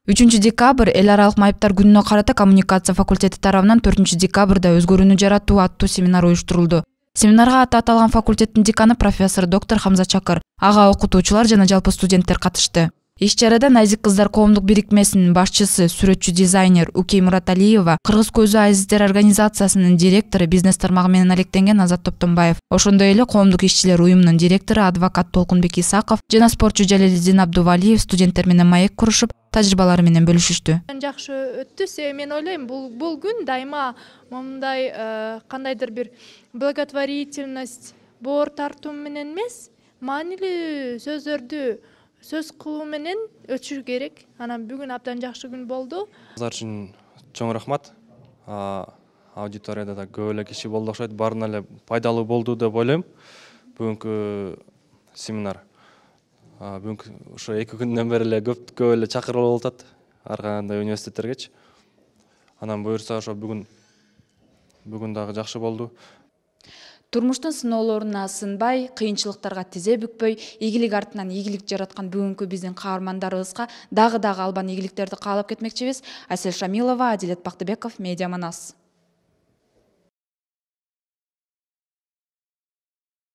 3 декабрь эл аралык майыптар күнүнө карата коммуникация факультети тарабынан 4 декабрда өзгөрүүнү жаратуу аттуу семинар уюштурулду. Семинарга аты аталган факультеттин деканы профессор доктор Хамза Чакыр, ага окутуучулар жана жалпы студенттер катышты. Иш-чарада Найзик кыздар коомдук бирикмесинин башчысы, сүрөтчү дизайнер Укей Мураталиева, Кыргыз көзү азиздер организациясынын директору, бизнес тармагы менен алектенген Азат Топтонбаев, ошондой эле коомдук ишчилер уюмунун директору адвокат Толкунбек Исаков жана спортчу Жалелидин Абдувалиев студенттер менен маек курушуп, тажрыйбалары менен бөлүшүштү. Жакшы өттү. Мен ойлойм, бул күн дайыма мындай кандайдыр бир благотворительность, боор тартуу менен эмес, маанилүү сөздөрдү сөз кылуу менен өтүшү керек. Анан бүгүн абдан жакшы күн болду. Алар үчүн чоң рахмат. Аудиторияда да көп эле киши болду окшойт. Баарына эле пайдалуу болду деп ойлойм. Бүгүнкү семинар. Бүгүнкү ошо 2 күндөн бери эле көп эле чакырып болуп атат. Ар кандай университеттергечи. Анан буюрса ошо бүгүн дагы жакшы болду. Турмуштун сыноолоруна сынбай, кыйынчылыктарга тизе бүкпөй, ийгилик артынан ийгилик жараткан бүгүнкү биздин каармандарыбызга дагы албан ийгиликтерди каалап кетмекчибиз. Асель Шамилова, Адилет Бактыбеков, Медиа Манас.